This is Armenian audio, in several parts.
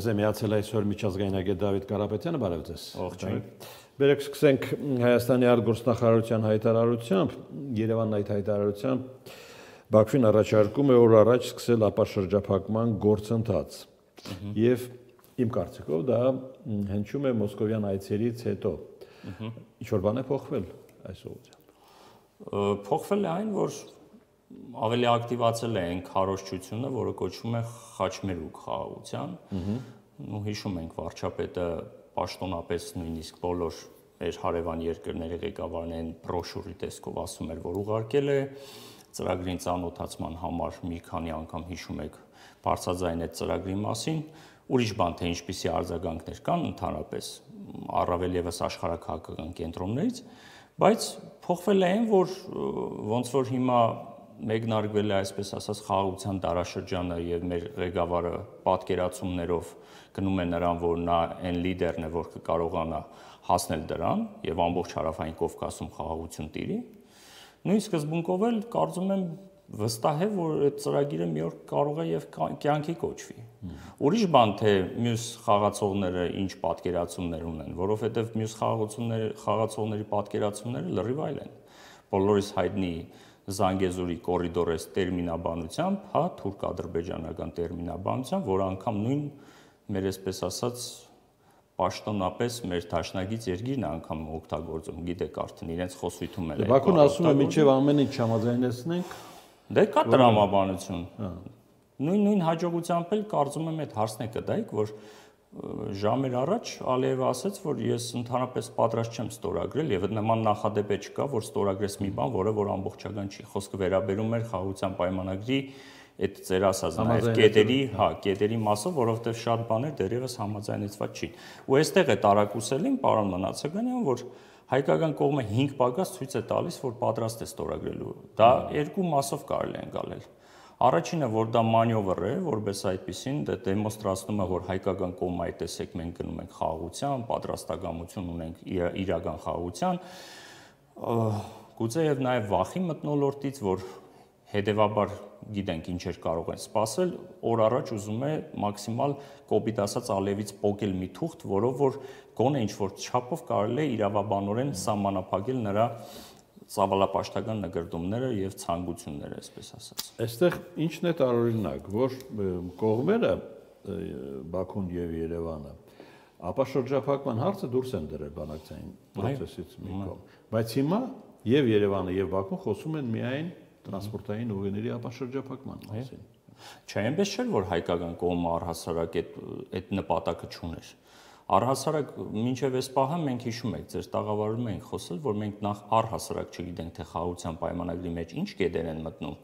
Մեզ է միացել այսօր միջազգային ագետ Դավիթ Կարապետյանը, բարև ձեզ։ Ողջույն։ Բերեք սկսենք Հայաստանի արտգործնախարարության հայտարարությամբ, Երևանն այդ հայտարարությամբ Բաքվին առաջարկում է օր առաջ սկսել ապաշրջափակման գործընթաց։ Եվ իմ կարծիքով դա հնչում է մոսկովյան այցերից հետո։ Ինչ-որ բան է փոխվել այս ուղղությամբ։ Փոխվել է այն, որ ավելի ակտիվացել է այն քարոզչությունը, որը կոչվում է խաչմերուկ խաղաղության։ Ու հիշում ենք վարչապետը պաշտոնապես նույնիսկ բոլոր մեր հարևան երկրների ղեկավարներին բրոշուրի տեսքով ասում էր, որ ուղարկել է ծրագրին ծանոթացման համար մի քանի անգամ հիշում եք բարձրաձայն այդ ծրագրի մասին, ուրիշ բան թե ինչպիսի արձագանքներ կան ընդհանրապես առավել եւս աշխարհաքաղաքական կենտրոններից, բայց փոխվել է այն, որ ոնց որ հիմա մեկնարկվել է այսպես ասած խաղաղության դարաշրջանը եւ մեր ղեկավարը պատկերացումներով գնում է նրան, որ նա այն լիդերն է, որ կկարողանա հասնել դրան եւ ամբողջ հարավային Կովկասում խաղաղություն տիրի։ Նույն սկզբունքով էլ կարծում եմ վստահ է, որ այդ ծրագիրը մի օր կարող է եւ կյանքի կոչվի։ Ուրիշ բան թե մյուս խաղացողները ինչ պատկերացումներ ունեն, որովհետեւ մյուս խաղացողների պատկերացումները լրիվ այլ են։ Բոլորիս հայտնի Զանգեզուրի կորիդորես տերմինաբանությամբ, հա, թուրք-ադրբեջանական տերմինաբանությամբ, որ անգամ նույն մեր այսպես ասած պաշտոնապես մեր դաշնագից երկիրն անգամ օգտագործում, գիտեք արդեն իրենց խոսույթում էլ է։ Բաքուն ասում է մինչև ամեն ինչ չհամաձայնեցնենք։ Դե կա տրամաբանություն։ Նույն հաջողությամբ էլ կարծում եմ այդ հարցն է կդայք, որ ժամեր առաջ Ալիևը ասաց, որ ես ընդհանրապես պատրաստ չեմ ստորագրել եւ նման նախադեպ չկա, որ ստորագրես մի բան, որ ամբողջական չի։ Խոսքը վերաբերում էր խաղաղության պայմանագրի այդ ծեր ասած նաեւ կետերի մասով, որովհետեւ շատ բաներ դեռևս համաձայնեցված չի։ Ու այստեղ է տարակուսելին, պարոն Մնացականյան, որ հայկական կողմը 5 պակաս ցույց է տալիս, որ պատրաստ է ստորագրելու։ Դա երկու մասով կարելի է անցնել։ Առաջինը, որ դա մանյովր է, որպես այդպեսին դա դեմոնստրացնում է, որ հայկական կողմը այդ տեսեք մենք գնում ենք խաղաղության, պատրաստակամություն ունենք իրական խաղաղության, գուցե եւ նաեւ վախի մթնոլորտից, որ հետեւաբար գիտենք ինչեր կարող են սпасել, օր առաջ ուզում է մաքսիմալ կոպիտ ասած Ալիևից պոկել մի թուղթ, որով որ գոնե ինչ որ չափով կարելի է իրավաբանորեն սահմանափակել նրա ծավալապաշտական նկրտումները եւ ցանկությունները, այսպես ասած։ Այստեղ ինչն է տարօրինակ, որ կողմերը Բաքուն եւ Երևանը ապաշրջափակման հարցը դուրս են դրել բանակցային process-ից մի կողմ, բայց հիմա եւ Երևանը եւ Բաքուն խոսում են միայն տրանսպորտային ուղիների ապաշրջափակման մասին։ Չէ, այնպես չէ, որ հայկական կողմը առհասարակ այդ նպատակը չուներ։ Առհասարակ մինչև այս պահը մենք հիշում եք, ձեր տաղավարում ենք խոսել, որ մենք նախ առհասարակ չգիտենք, թե խաղաղության պայմանագրի մեջ ինչ կետեր են մտնում,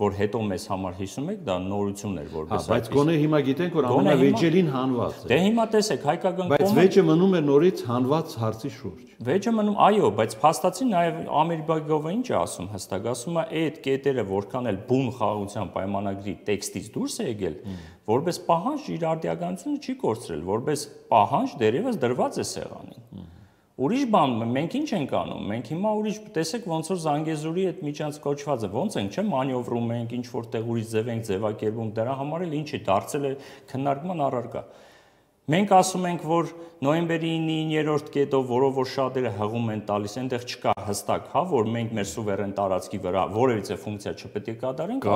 որ հետո մեզ համար հիշում եք, դա նորություն էր որպես այդպես։ Բայց գոնե հիմա գիտենք, որ ամենավեճելին հանված է։ Դե հիմա տեսեք, հայկական կողմը։ Բայց վեճը մնում է նորից հանված հարցի շուրջ։ Վեճը մնում, այո, բայց փաստացի նաև Ամիրբագովը ինչ է ասում հստակ, ասում է այդ կետերը որքան էլ բուն խաղաղության պայմանագրի տեքստից դուրս է եկել, որպես պահանջ իր արդիականությունը չի կորցրել, որպես պահանջ դերևս դրված է սեղանին։ Ուրիշ բան, մենք ինչ ենք անում, մենք հիմա ուրիշ, տեսեք ոնց որ Զանգեզուրի այդ միջանց կոչվածը, ոնց ենք, չէ՞, մանյովրում ենք, ինչ որտեղ ուրիշ ձև ենք ձևակերպում, դրա համար էլ ինչ է դարձել է քննարկման առարկա։ Մենք ասում ենք, որ նոյեմբերի 9-րդ կետով, որով որ շատերը հղում են տալիս, այնտեղ չկա հստակ, հա, որ մենք մեր սուվերեն տարածքի վրա որևիցե ֆունկցիա չպետք է կատարենք,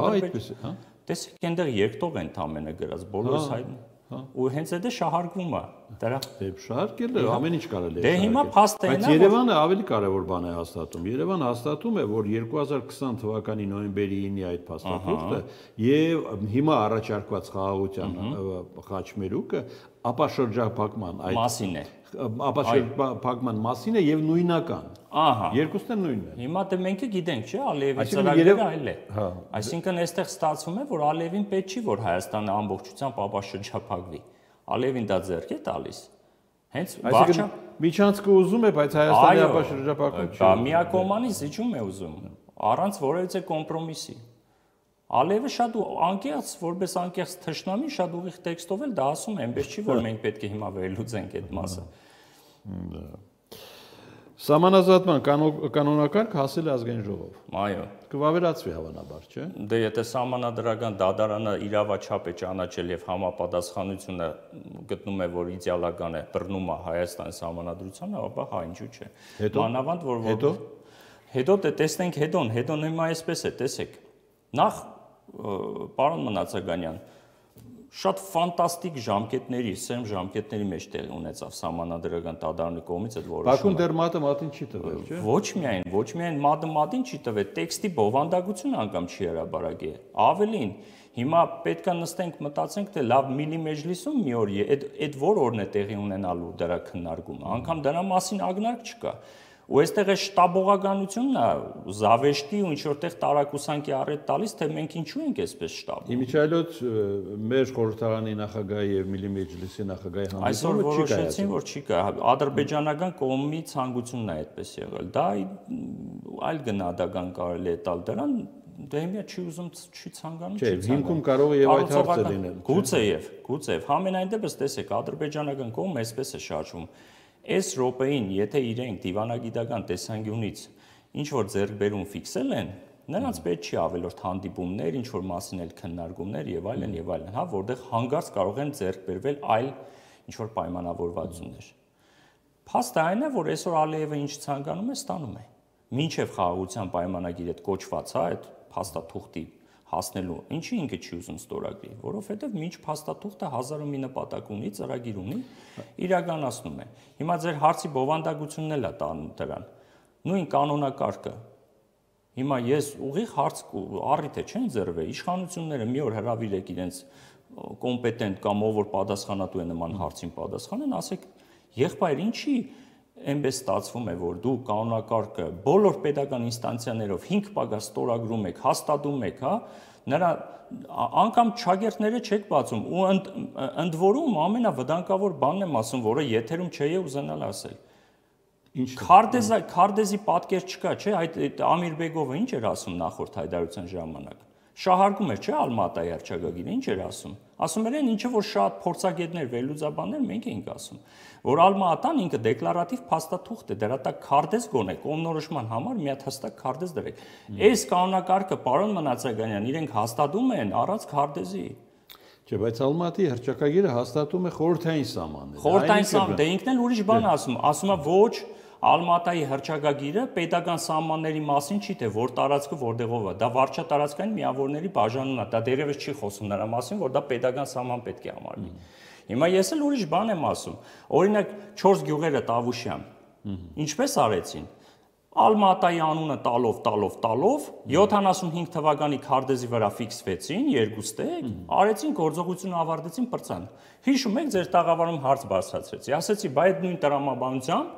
տեսեք, այնտեղ երկտող են ամենը գրած, բոլորս հայտնի։ Ու հենց այդ է շահարկվում է դրա։ Դե շահարկել է, ամեն ինչ կարելի է։ Դե հիմա փաստը Բայց Երևանը ավելի կարևոր բան է հաստատում։ Երևանը հաստատում է, որ 2020 թվականի նոյեմբերի 9-ի այդ փաստաթուղթը եւ հիմա առաջարկված խաղաղության խաչմերուկը ապաշրջափակման այդ մասին է։ Ապաշրջափակման մասին է եւ նույնական։ Ահա։ Երկուսն են նույնն են։ Հիմա դե մենք գիտենք, չէ՞, Ալիևի ծրագիրը այլ է։ Այսինքն այստեղ ստացվում է, որ Ալիևին պետք չի, որ Հայաստանը ամբողջությամբ ապաշրջափակվի։ Ալիևին դա ձեռք է տալիս։ Հենց վարչա միջանցքը ուզում է, բայց Հայաստանի ապաշրջափակում չի։ Դա միակողմանի զիջում է ուզում, առանց որևիցե կոմպրոմիսի։ Ալիևը շատ անկեղծ, որպես անկեղծ թշնամի, շատ ուղիղ տեքստով էլ դա ասում է, այնպես չի, որ մենք պետք է հիմա վերլուծենք այդ մասը։ Սահմանազատման կանոնակարգ հասել է ազգային ժողով։ Այո։ Կվավերացվի հավանաբար, չէ՞։ Դե եթե սահմանադրական դատարանը իրավաչափ է ճանաչել եւ համապատասխանությունը գտնում է, որ իդեալական է, բռնում է Հայաստանի սահմանադրությանը, ապա հա, ինչու՞ չէ։ Մանավանդ որ հետո տեսնենք հետոն հիմա այսպես է, տեսեք։ Նախ պարոն Մնացականյան, շատ ֆանտաստիկ ժամկետների, սեմ ժամկետների մեջ տեղ ունեցավ սահմանադրական դատարանի կողմից այդ որոշումը։ Բաքուն դեռ մատը մատին չի տվել, չէ՞։ Ոչ միայն մատը մատին չի տվել, տեքստի բովանդակությունը անգամ չի հրաբարակել։ Ավելին, հիմա պետք է նստենք մտածենք, թե լավ Միլի մեջլիսում մի օր այդ որ օրն է տեղի ունենալու դրա քննարկումը, անգամ դրա մասին ակնարկ չկա։ Ու այստեղ է շտաբողականությունն է, զավեշտի ու ինչ-որտեղ տարակուսանքի առիթ տալիս, թե մենք ինչու ենք այսպես շտաբում։ Իմիջիայլոց մեր խորհրդարանի նախագահի եւ Միլի մեջլիսի նախագահի հանդիպումը չի կայացել։ Այսօր որոշեցին, որ չի կա։ Ադրբեջանական կողմի ցանկությունն է այդպես եղել։ Դա այլ գնահատական կարելի է տալ դրան, դե հիմա չի ուզում, չի ցանկանում, չի ցանկանում։ Չէ, հիմքում կարող է եւ այդ հարցը լինել։ Գուցեև, համենայն դեպս տեսեք, ադրբեջանական կողմը այսպես է շարժվում։ Այս րոպեին, եթե իրենք դիվանագիտական տեսանկյունից ինչ որ ձեռքբերում ֆիքսել են, նրանց պետք չի ավելորդ հանդիպումներ, ինչ որ մասին էլ քննարկումներ եւ այլն, հա, որտեղ հանգարց կարող են ձեռքբերվել այլ ինչ որ պայմանավորվածություններ։ Փաստը այն է, որ այսօր Ալիևը ինչ ցանկանում է, ստանում է։ Մինչև խաղաղության պայմանագիրը կոչված, հա, այդ փաստաթուղթի հասնելու, ինչի ինքը չի ուզում ստորագրի, որովհետև մինչ փաստաթուղթը 1000 մի նպատակ ունի, ծրագիր ունի, իրականացնում է։ Հիմա ձեր հարցի բովանդակությունն էլ է տանում դրան։ Նույն կանոնակարգը։ Հիմա ես ուղիղ հարց առիթ է չեն ձեռվել, իշխանությունները մի օր հրավիրեք իրենց կոմպետենտ կամ ով որ պատասխանատու է նման հարցին պատասխանեն, ասեք, եղբայր, ինչի այնպես ստացվում է, որ դու կանոնակարգը բոլոր պետական ինստանցիաներով 5 պագաս ստորագրում եք, հաստատում եք, հա, նրա անգամ չագերտները չեք բացում ու ընդ որում ամենավտանգավոր բանն եմ ասում, որը եթերում չէի ուզենալ ասել։ Քարտեզի պատկեր չկա, չէ՞, այդ Ամիրբեգովը ինչ էր ասում նախորդ հայտարարության ժամանակ։ Շահարկում էր, չէ՞, Ալմատայի հռչակագիրը, ինչ էր ասում։ Ասում էր այն ինչը որ շատ փորձագետներ, վերլուծաբաններ մենք էինք ասում, որ Ալմատան ինքը դեկլարատիվ փաստաթուղթ է, դրա տակ քարտեզ գոնե կողմնորոշման համար մի հատ հստակ քարտեզ դրեք։ Այս կանոնակարգը պարոն Մնացականյան իրենք հաստատում են առանց քարտեզի։ Չէ, բայց Ալմատի հռչակագիրը հաստատում է խորհրդային սահմանները։ Խորհրդային սահման, դե ինքն էլ ուրիշ բան ասում է ոչ Ալմատայի հռչակագիրը պետական սահմանների մասին չի, թե որ տարածքը որտեղով է, դա վարչատարածքային միավորների բաժանումն է, դա դերևս չի խոսում նրա մասին, որ դա պետական սահման պետք է համարվի։ Հիմա ես էլ ուրիշ բան եմ ասում։ Օրինակ 4 գյուղերը Տավուշյան։ Ինչպես արեցին։ Ալմատայի անունը տալով 75 թվականի քարտեզի վրա ֆիքսվեցին, երկուստեք, արեցին գործողությունը ավարտեցին պրծան։ Հիշում եք ձեր տաղավարում հարց բարձրացրեցի, ասեցի, բայ այդ նույն տրամաբանությամբ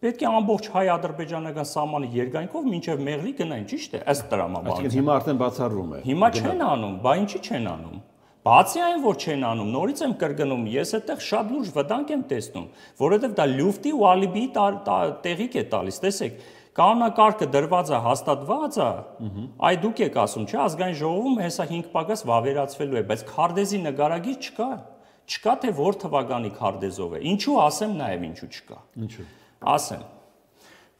պետք է ամբողջ հայ-ադրբեջանական սահմանի երկայնքով մինչև Մեղրի գնային, ճիշտ է, ըստ տրամաբանության։ Այսինքն հիմա արդեն բացառվում է։ Հիմա չեն անում, բա ինչի չեն անում։ Բացի այն, որ չեն անում, նորից եմ կրկնում, ես այդտեղ շատ լուրջ վտանգ եմ տեսնում, որովհետև դա լյուֆտի ու ալիբիի տեղիք է տալիս, տեսեք, կանոնակարգը դրված է, հաստատված է, այ դուք եք ասում, չէ, ազգային ժողովում հեսա 5 պակաս վավերացվելու է, բայց քարտեզի նկարագիր չկա։ Չկա թե որ թվականի քարտեզով է։ Ինչու ասեմ նաև ինչու չկա։ Ինչու։ Ասեմ,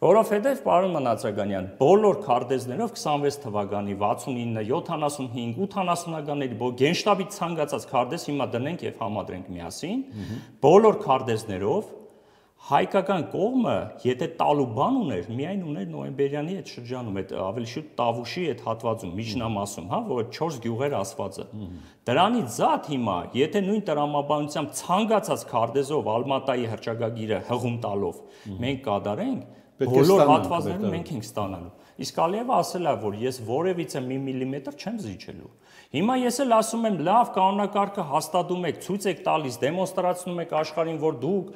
որովհետև պարոն Մնացականյան, բոլոր քարտեզներով 26 թվականի 69, 75, 80-ականների գենշտաբի ցանկացած քարտեզ հիմա դնենք եւ համադրենք միասին, բոլոր քարտեզներով հայկական կողմը, եթե տալու բան ուներ, միայն ուներ նոյեմբերյանի այդ շրջանում, այդ ավելի շուտ Տավուշի այդ հատվածում, միջնամասում, հա, որ 4 գյուղեր ասվածը։ Դրանից զատ հիմա, եթե նույն տրամաբանությամբ ցանկացած քարտեզով Ալմատայի հռչակագիրը հղում տալով մենք կատարենք, բոլոր հատվածները մենք ենք ստանալու։ Իսկ Ալիևը ասել է, որ ես որևիցե մի միլիմետր չեմ զիջելու։ Հիմա ես էլ ասում եմ, լավ, կանոնակարգը հաստատում եք, ցույց եք տալիս, դեմոնստրացնում եք աշխարհին, որ դուք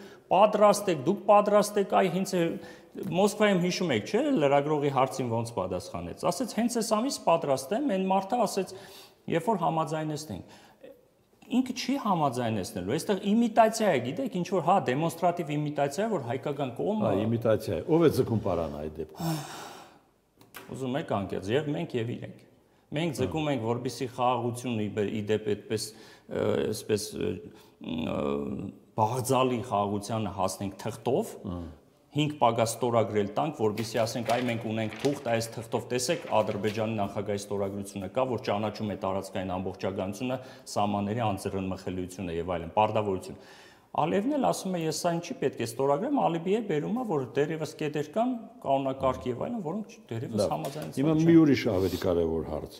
պատրաստ եք, այ հենց Մոսկվայում հիշում եք, չէ՞, լրագրողի հարցին ոնց պատասխանեց։ Ասեց, հենց այս ամիս պատրաստ եմ, այն մարդը ասեց, երբ որ համաձայնեցնենք։ Ինքը չի համաձայնեցնելու, այստեղ իմիտացիա է, գիտեք, ինչ որ հա դեմոնստրատիվ իմիտացիա է, որ հայկական կողմը իմիտացիա է։ Ով է ձգում պարանը այդ դեպքում։ Ուզում եք անկեղծ, եւ մենք եւ իրենք։ Մենք ձգում ենք, որպեսզի խաղաղությունը ի դեպ այսպես բաղձալի խաղաղությանը հասնենք թղթով, 5 պագաս ստորագրել տանք, որովհետեւ ասենք այ մենք ունենք թուղթ, այս թղթով տեսեք Ադրբեջանի նախագահի ստորագրությունը կա, որ ճանաչում է տարածքային ամբողջականությունը, սահմանների անձեռնմխելիությունը եւ այլն, պարտավորություն։ Ալիևն էլ ասում է, ես սա ինչի պետք է ստորագրեմ, Ալիբիը բերում է, որ դերևս կետեր կան, կանոնակարգ եւ այլն, որոնք դերևս համաձայնեցված չեն։ Հիմա մի ուրիշ ավելի կարևոր հարց։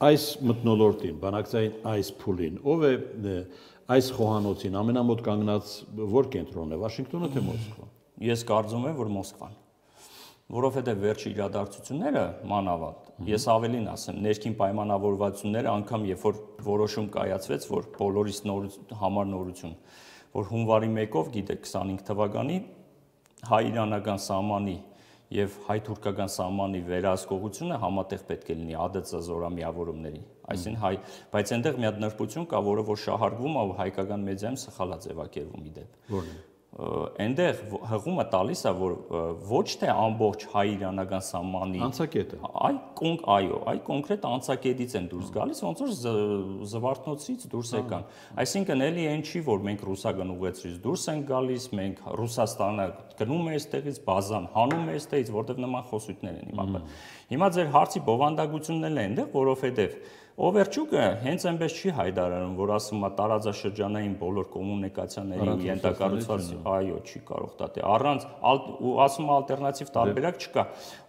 Այս մթնոլորտին, բանակցային այս փուլին, ով է այս խոհանոցին ամենամոտ կանգնած որ կենտրոնն է, Վաշինգտոնը թե Մոսկվան։ Ես կարծում եմ, որ Մոսկվան, որովհետեւ վերջի իրադարձությունները մանավանդ, ես ավելին ասեմ, ներքին պայմանավորվածությունները անգամ երբ որ որոշում կայացվեց, որ բոլորիս համար նորություն, որ հունվարի 1-ով, գիտեք, 25 թվականի հայ-իրանական սահմանի եւ հայ-թուրքական սահմանի վերահսկողությունը համատեղ պետք է լինի ԱԴՑ զորամիավորումների, այսինքն բայց այնտեղ մի հատ նրբություն կա, որը որ շահարկվում է ու հայկական մեդիայում սխալ է ձևակերվում իդեպ։ Որն է։ Այնտեղ հղումը տալիս է, որ ոչ թե ամբողջ հայ-իրանական սահմանի անցակետը, այ կոնկրետ անցակետից են դուրս գալիս, ոնց որ զվարթնոցից դուրս եկան։ Այսինքն էլի այն չի, որ մենք ռուսական ուղեցրից դուրս ենք գալիս, մենք Ռուսաստանը գնում է այստեղից, բազան հանում է այստեղից, որտեղ նման խոսույթներ են հիմա։ Հիմա ձեր հարցի բովանդակությունն էլ է այնտեղ, որովհետև Օվերչուկը հենց այնպես չի հայտարարում, որ ասում է տարածաշրջանային բոլոր կոմունիկացիաներին ենթակառուցված, այո, չի կարող դա դե առանց ու ասում ալտերնատիվ տարբերակ չկա։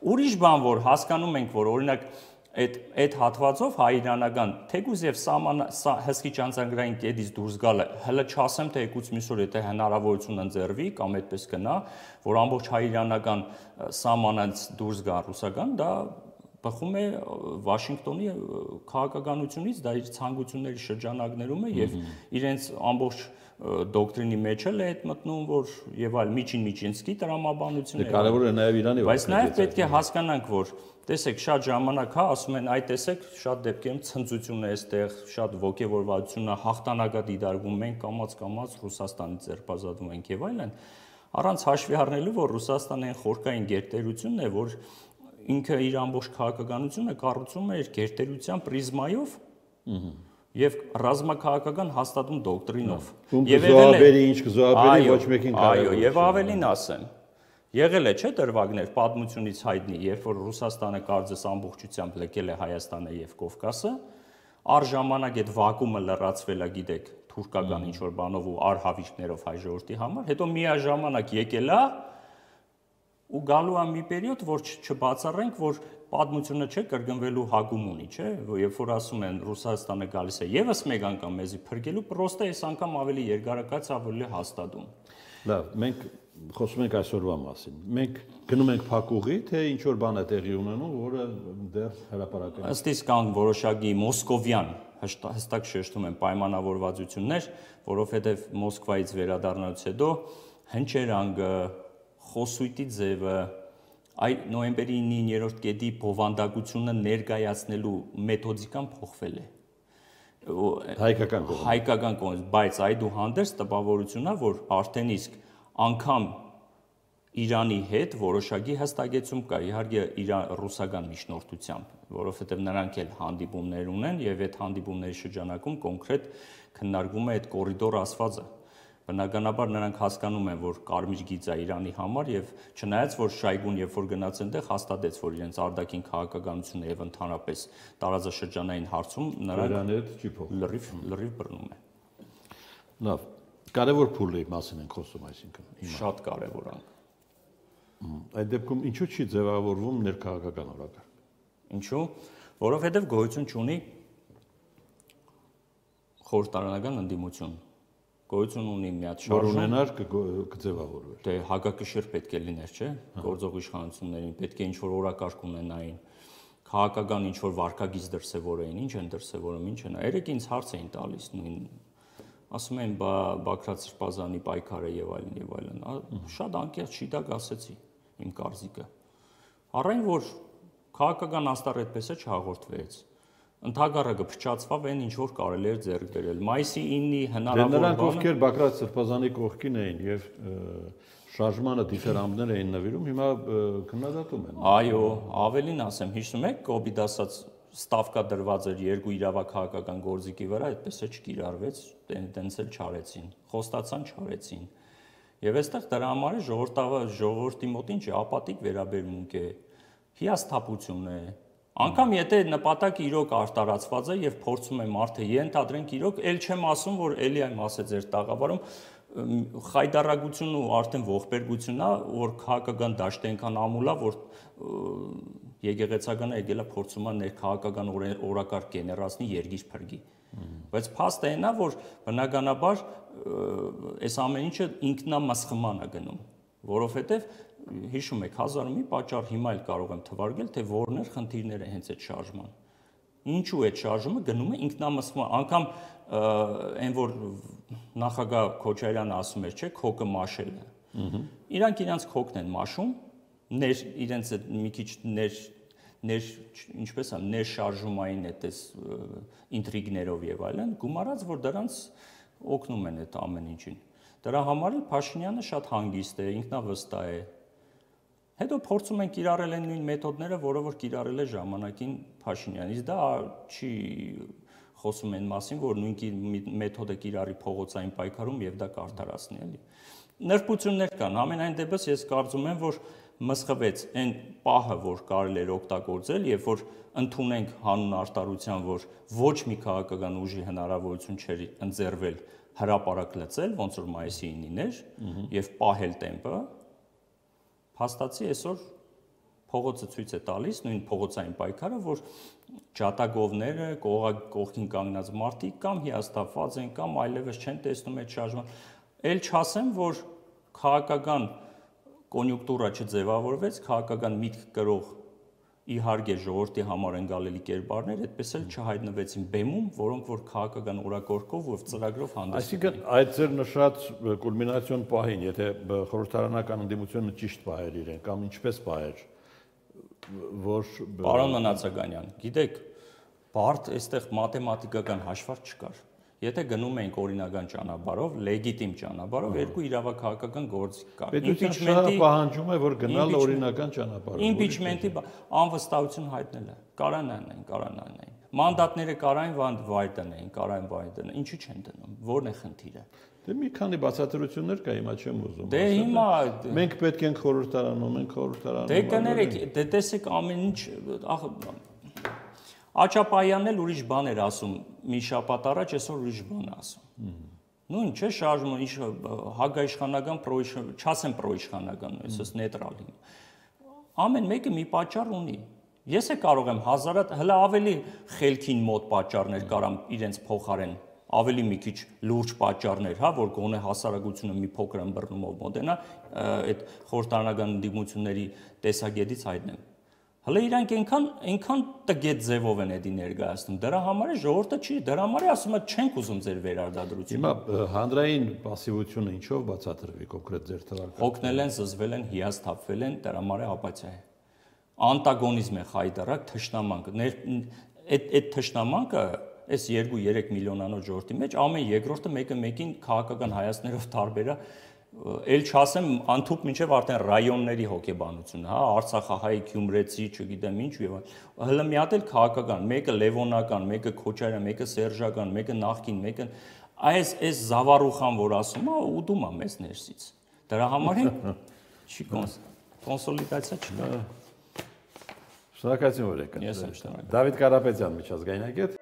Ուրիշ բան, որ հասկանում ենք, որ օրինակ այդ հատվածով հայ-իրանական թեկուզ եւ հսկիչ անցագրային կետից դուրս գալը, հələ չասեմ թե եկուց մյուս օր եթե հնարավորություն ընձեռվի կամ այդպես կնա, որ ամբողջ հայ-իրանական սահմանից դուրս գա ռուսական, դա բխում է Վաշինգտոնի քաղաքականությունից, դա իր ցանկությունների շրջանակներում է եւ իրենց ամբողջ դոկտրինի մեջ էլ է այդ մտնում, որ եւ այլ միջին-միջինսկի տրամաբանություն է։ Կարևորը նաեւ Իրանի բայց նաեւ պետք է հասկանանք, որ տեսեք, շատ ժամանակ հա ասում են, այ տեսեք, շատ դեպքերում ցնծություն է այստեղ, շատ ոգևորվածություն է, հաղթանակա դիտարկում ենք, կամաց Ռուսաստանից ձերբազատվում ենք եւ այլն, առանց հաշվի առնելու, որ Ռուսաստանը այն խորքային գերտերությունն է, որ ինքը իր ամբողջ քաղաքականությունը կառուցում է իր գերտերության պրիզմայով եւ ռազմաքաղաքական հաստատուն դոկտրինով։ Եվ զոհաբերի ինչ կզոհաբերի ոչ մեկին այո, եւ ավելին ասեմ, եղել է չէ դրվագներ պատմությունից հայտնի, երբ որ Ռուսաստանը կարծես ամբողջությամբ լքել է Հայաստանը եւ Կովկասը, առժամանակ այդ վակուումը լրացվել է, գիտեք, թուրքական ինչ որ բանով ու արհավիրքներով հայ ժողովրդի համար, հետո միաժամանակ եկել է ու գալու է մի պերիոդ, որ չբացառենք, որ պատմությունը չէ կրկնվելու հակում ունի, չէ, երբ որ ասում են Ռուսաստանը գալիս է եւս մեկ անգամ մեզի փրկելու, պրոստը այս անգամ ավելի երկարակաց ավելի հաստատում։ Լավ, մենք խոսում ենք այսօրվա մասին։ Մենք գնում ենք փակուղի, թե ինչ որ բան է տեղի ունենում, որը դեռ հրապարակել է։ Ըստ իս կան որոշակի մոսկովյան հստակ շեշտում են պայմանավորվածություններ, որովհետեւ Մոսկվայից վերադառնալուց հետո հնչերանգը խոսույթի ձևը, այ նոյեմբերի 9-րդ կետի բովանդակությունը ներկայացնելու մեթոդիկան փոխվել է։ Հայկական կողմից, բայց այդուհանդերձ տպավորությունն է, որ արդեն իսկ անգամ Իրանի հետ որոշակի հստակեցում կա, իհարկե ռուսական միջնորդությամբ, որովհետև նրանք էլ հանդիպումներ ունեն եւ այդ հանդիպումների շրջանակում կոնկրետ քննարկվում է այդ կորիդոր ասվածը։ Բնականաբար նրանք հասկանում են, որ կարմիր գիծ է Իրանի համար եւ չնայած որ Շայգուն երբ որ գնաց այնտեղ հաստատեց, որ իրենց արտաքին քաղաքականությունը եւ ընդհանրապես տարածաշրջանային հարցում նրանք լրիվ բռնում են։ Լավ, կարևոր փուլի մասին ենք խոսում, այսինքն շատ կարևոր է։ Այդ դեպքում ինչու չի ձևավորվում ներքաղաքական օրակարգ։ Ինչու՞, որովհետեւ գոյություն չունի խորհրդարանական ընդդիմություն։ Գոյություն ունի մի հատ շարժում, որ ունենար կձևավորվեր։ Դե հակակշիռ պետք է լիներ, չէ՞, գործող իշխանություններին, պետք է ինչ-որ օրակարգ ունենային, քաղաքական ինչ-որ վարկագիծ դրսևորեին, ինչ են դրսևորում, ինչ են։ Երեք ինձ հարց էին տալիս նույն, ասում են, Բաքրատ Սրբազանի պայքարը եւ այլն։ Շատ անկեղծ շիտակ ասեցի իմ կարծիքը։ Առայն որ քաղաքական աստառ այդպես է չհաղորդվեց։ Ընդհակառակը փչացավ այն ինչ որ կարելի էր ձեռք բերել։ Մայիսի 9-ի հնարավոր բանը։ Նրանք ովքեր Բաքրատ Սրբազանի կողքին էին եւ շարժմանը դիֆերամբներ էին նվիրում, հիմա քննադատում են։ Այո, ավելին ասեմ, հիշում եք, կոպիտ ասած ստավկա դրված էր երկու իրավաքաղաքական գործիքի վրա, այդպես է չկիրառվեց, տենց էլ չարեցին։ Խոստացան չարեցին։ Եվ այստեղ դրա համար է ժողովրդի մոտ ինչ է ապատիկ վերաբերմունք է, հիասթափություն է։ Անկամ եթե նպատակը իրոք արտարացված է եւ փորձում է մարդը ենթադրենք իրոք, ել չեմ ասում, որ էլի այմ ասե ձեր տաղավարում խայդարագությունն ու արդեն ողբերգությունն է, որ քաղաքական դաշտը այնքան ամուլ է, որ եկեղեցականը եկել է փորձում է ներքաղաքական օրակարգ գեներացնի երգիր փրկի։ Բայց փաստը այն է, որ բնականաբար այս ամեն ինչը ինքնամասխման է գնում, որովհետև հիշում եք 1000 մի պատճառ հիմա էլ կարող եմ թվարկել, թե որներ խնդիրները հենց այդ շարժման։ Ինչու այդ շարժումը գնում է ինքնամասխման, անգամ այն որ նախագահ Քոչարյանը ասում էր, չէ, քոկը մաշելը։ Իրանք իրանց քոկն են մաշում, իրենց այդ մի քիչ ինչպես է, ներշարժումային այդպես ինտրիգներով եւ այլն, գումարած որ դրանց օգնում են այդ ամեն ինչին։ Դրա համար էլ Փաշինյանը շատ հանգիստ է, ինքնավստահ է։ Հետո փորձում են կիրառել այն նույն մեթոդները, որը որ կիրառել է ժամանակին Փաշինյանից, դա չի խոսում են մասին, որ նույն մեթոդը կիրառի փողոցային պայքարում եւ դա կարդարացնի, էլի։ Նրբություններ կան, ամենայն դեպս ես կարծում եմ, որ մսխվեց այն պահը, որ կարելի էր օգտագործել, եւ որ ընդունենք հանուն արտարության, որ ոչ մի քաղաքական ուժի հնարավորություն չէր ընձեռվել հրապարակ լծել, ոնց որ մայիսի 9-ին էր, եւ պահել տեմպը, փաստացի այսօր փողոցը ցույց է տալիս, նույն փողոցային պայքարը, որ ջատագովները, կողքին կանգնած մարդիկ կամ հիասթափված են, կամ այլևս չեն տեսնում այդ շարժման։ Էլ չասեմ, որ քաղաքական կոնյունկտուրա չձևավորվեց, քաղաքական միտք կրող իհարկե ժողովրդի համար ընկալելի կերպարներ այդպես էլ չհայտնվեցին բեմում, որոնք որ քաղաքական օրակարգով ու ծրագրով հանդես։ Այսինքն այդ ձեր նշած կուլմինացիոն պահին, եթե խորհրդարանական ընդդիմությունը ճիշտ պահեր իրեն կամ ինչպես պահեր, որ Պարոն Մնացականյան, գիտեք, բարդ այստեղ մաթեմատիկական հաշվարկ չկար։ Եթե գնում ենք օրինական ճանապարհով, լեգիտիմ ճանապարհով, երկու իրավաքաղաքական գործիք կար։ Impeachment-ը պահանջում է, որ գնալ օրինական ճանապարհով։ Impeachment-ի անվստահություն հայտնելը, կարանային։ Մանդատները կարային վայր դնեին, ինչու չեն դնում, որն է խնդիրը։ Դե մի քանի բացատրություններ կա, հիմա չեմ ուզում։ Դե հիմա մենք պետք ենք խորհրդարանում, ենք խորհրդարանում։ Դե կներեք, դե տեսեք ամեն ինչ, Աչապայանն էլ ուրիշ բան էր ասում մի շաբաթ առաջ, այսօր ուրիշ բան է ասում։ Նույն չէ շարժումը, հագաիշխանական, չասեմ պրոիշխանական, այսպես նեյտրալ։ Ամեն մեկը մի պատճառ ունի։ Ես է կարող եմ հլա ավելի խելքին մոտ պատճառներ կարամ իրենց փոխարեն, ավելի մի քիչ լուրջ պատճառներ, հա, որ գոնե հասարակությունը մի փոքր ըմբռնումով մոտենա, այդ խորհրդարանական ընդդիմությունների տեսակետից հայտնեմ։ Հələ իրանք այնքան տգետ ձևով են էդի ներկայացնում։ Դրա համար է ժողովուրդը չի, դրա համար է ասում է չենք ուզում ձեր վերարտադրությունը։ Հիմա հանրային пассивությունը ինչով բացատրվի կոնկրետ ձեր թվարկատում։ Հոգնել են, զզվել են, հիասթափվել են, դրա համար է ապաթիա է։ Անտագոնիզմ է խայտարակ, թշնամանք։ Այդ թշնամանքը այս 2-3 միլիոնանոց ժողովրդի մեջ ամեն երկրորդը մեկը մեկին քաղաքական հայացքներով տարբեր է։ Էլ չասեմ անթուք մինչև արդեն ռայոնների հոգեբանությունը, հա, Արցախահայ, Գյումրեցի, չգիտեմ ինչ եւ հələ մի հատ էլ քաղաքական, մեկը Լևոնական, մեկը Քոչարյան, մեկը Սերժական, մեկը նախկին, մեկը այս զավառուխան, որ ասում է, ուտում է մեզ ներսից։ Դրա համար է չի կոնսոլիդացիա չկա։ Շնորհակալություն, որ եկաք։ Ես եմ շնորհակալ։ Դավիթ Կարապետյան, միջազգային агент։